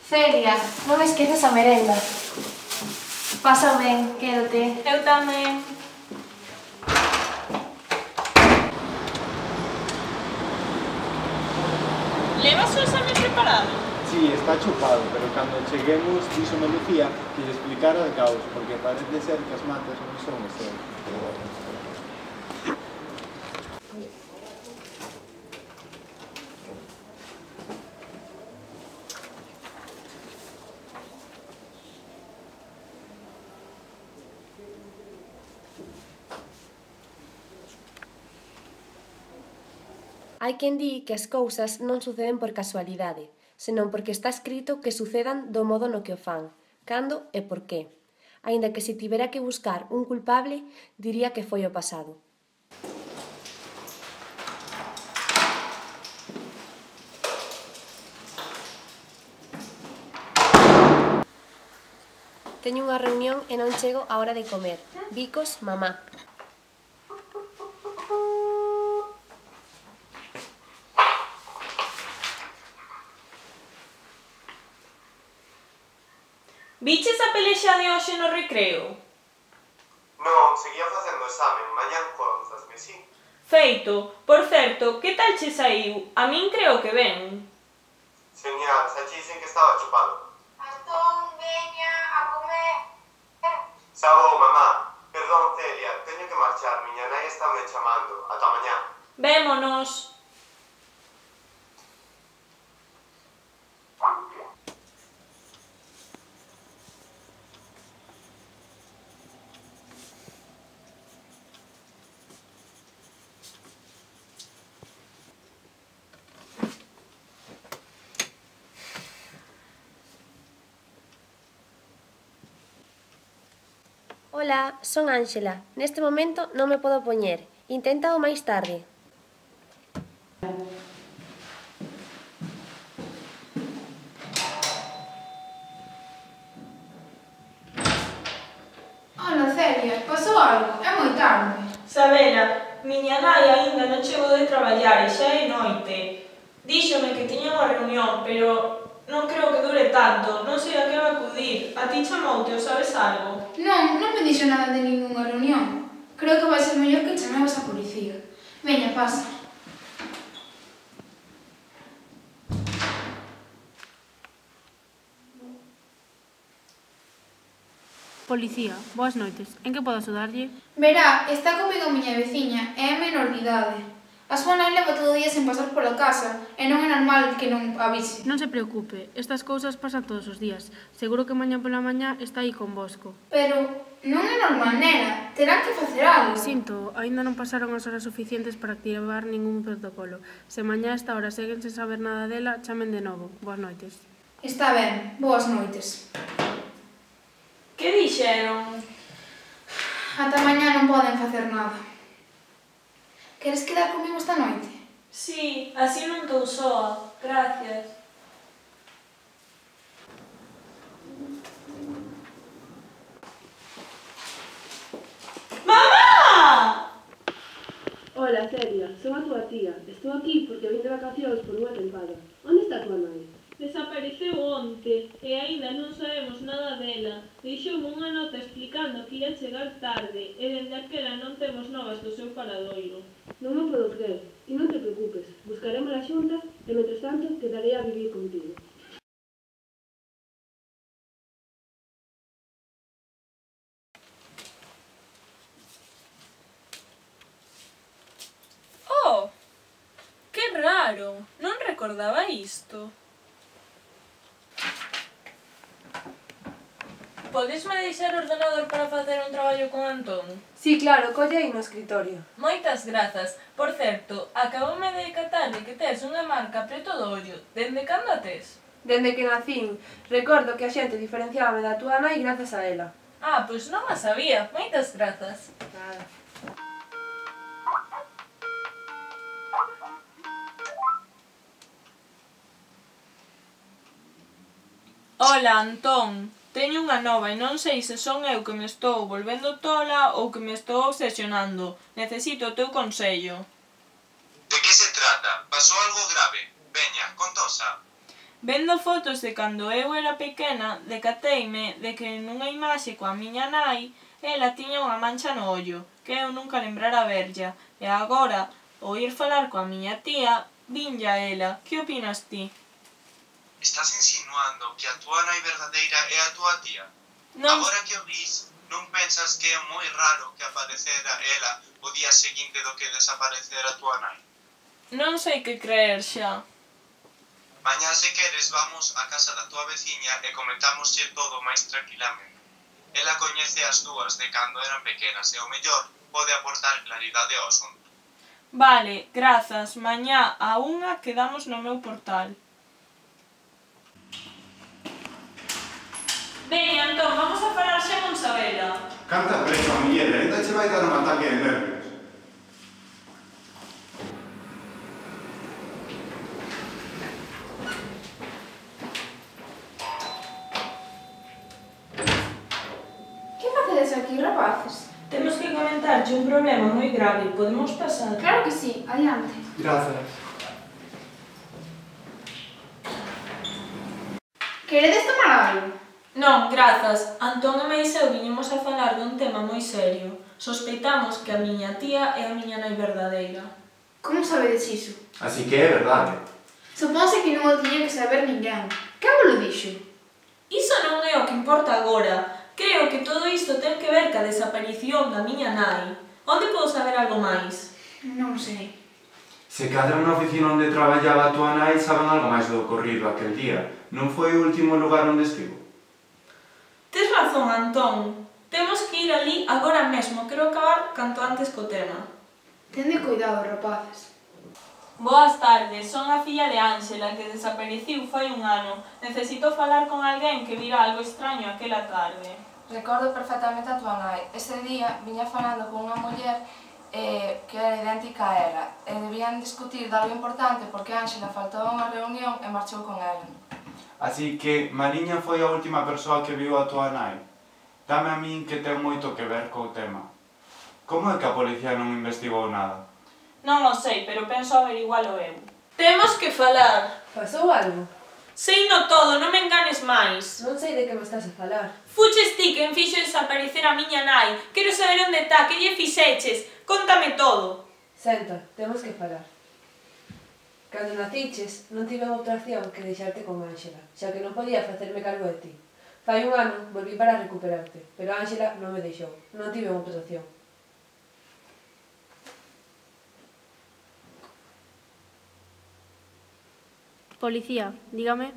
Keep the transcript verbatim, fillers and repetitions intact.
Celia, non esqueces a merenda. Pasa ben, quédate. Eu tamén. Levas o exame preparado? Sí, está chupado, pero cando cheguemos díxome Lucía que lle explicara de caos, porque parece ser que as matas non son este. Hai quen di que as cousas non suceden por casualidade, senón porque está escrito que sucedan do modo no que o fan, cando e por qué. Aínda que se tivera que buscar un culpable, diría que foi o pasado. Teño unha reunión e non chego á hora de comer. Bicos, mamá. Viches a pelexa de hoxe no recreo? Non, seguía facendo examen, mañan conzasme, si? Feito. Por certo, que tal che saiu? A min creo que ben. Genial, xa che dicen que estaba chupado. Antón, veña, a comer. Xa vou, mamá. Perdón, Celia, teño que marchar, miña nai está me chamando. Ata mañá. Vémonos. Ola, son Ángela. Neste momento non me podo poñer. Inténtao máis tarde. Ola, Celia, pasou algo? É moi tarde. Sabela, miña nai aínda non chegou de traballar e xa é noite. Díxome que tiña unha reunión, pero non creo que dure tanto. Non sei a que vai acudir. A ti chamoute, ou sabes algo? Non, non me dixo nada de ningunha reunión. Creo que vai ser mellor que chamemos a policía. Veña, pasa. Policía, boas noites. En que podo axudarlle? Verá, está comigo a miña veciña e é menor de idade. A súa nai leva todo o día sen pasar pola casa e non é normal que non avise. Non se preocupe, estas cousas pasan todos os días. Seguro que mañá pola mañá está aí convosco. Pero non é normal, nena. Terán que facer algo. Sinto, aínda non pasaron as horas suficientes para activar ningún protocolo. Se mañá a esta hora seguen sen saber nada dela, chamen de novo. Boas noites. Está ben. Boas noites. Que dixeron? Ata mañá non poden facer nada. Queres quedar comigo esta noite? Sí, así non estou soa. Gracias. Mamá! Ola, Celia, son a túa tía. Estou aquí porque vim de vacacións por unha tempada. Onde está a túa nai? Desapareceu onte e aínda non sabemos nada dela. Deixoume unha nota explicando que ia chegar tarde e dende aquela non temos novas do seu paradoiro. Non me podo creer. E non te preocupes, buscaremos a xunta e, mentres tanto, quedarei a vivir contigo. Oh! Que raro! Non recordaba isto. Podesme deixar o ordenador para facer un traballo con Antón? Sí, claro, colle aí no escritorio. Moitas grazas. Por certo, acaboume de decatar de que tes unha marca preto do ollo. Dende cando a tes? Dende que nacín, recordo que a xente diferenciábame da túa nai grazas a ela. Ah, pois non a sabía. Moitas grazas. Nada. Ola, Antón. Teño unha nova e non sei se son eu que me estou volvendo tola ou que me estou obsesionando. Necesito o teu consello. De que se trata? Pasou algo grave? Veña, contosa. Vendo fotos de cando eu era pequena, decateime de que nunha imaxe coa miña nai ela tiña unha mancha no ollo, que eu nunca lembrara verlla, e agora, ao ir falar coa miña tía, vinlla ela. Que opinas ti? Estás insinuando que a túa nai verdadeira é a túa tía? Non, Agora que o dis, non pensas que é moi raro que aparecera ela o día seguinte do que desaparecera a túa nai? non sei que creer xa. Mañá se queres vamos á casa da túa veciña e comentámoslle todo máis tranquilamente. Ela coñece as dúas de cando eran pequenas e o mellor pode aportar claridade ao asunto. Vale, grazas. Mañá a unha quedamos no meu portal. Veña, entón, vamos a falar xa con Sabela. Canta preso a Miguel, ainda che vai dar un ataque de nervios. Que facedes aquí, rapaces? Temos que comentarche un problema moi grave. Podemos pasar? Claro que sí, adiante. Grazas. Queredes tomar algo? Non, grazas. Antón e mais eu viñemos a falar dun tema moi serio. Sospeitamos que a miña tía é a miña nai verdadeira. Como sabedes iso? Así que é verdade. Suponse que non o tiña que saber ninguén. Quen vos lo dixo? Iso non é o que importa agora. Creo que todo isto ten que ver ca desaparición da miña nai. Onde podo saber algo máis? Non sei. Se cadra na oficina onde traballaba a túa nai saben algo máis do ocorrido aquel día. Non foi o último lugar onde estivo? Tes razón, Antón. Temos que ir ali agora mesmo. Quero acabar canto antes co tema. Tende cuidado, rapaces. Boas tardes, son a filla de Ángela, que desapareciu fai un ano. Necesito falar con alguén que vira algo extraño aquela tarde. Recordo perfectamente a túa nai. Ese día viña falando con unha muller eh, que era idéntica a ela. E debían discutir de algo importante porque Ángela faltou a unha reunión e marchou con ela. Así que Mariña foi a última persoa que viu a túa nai. Dame a min que ten moito que ver co tema. Como é que a policía non investigou nada? Non o sei, pero penso averigualo eu. Temos que falar. Pasou algo? Sei no todo, non me enganes máis. Non sei de que me estás a falar. Fuches ti quen fixo desaparecer a miña nai. Quero saber onde está, que lle fixeches. Cóntame todo. Senta, temos que falar. Cando naciches, non tive outra opción que deixarte con Ángela, xa que non podía facerme cargo de ti. Fai un ano, volví para recuperarte, pero Ángela non me deixou. Non tive outra opción. Policía, dígame.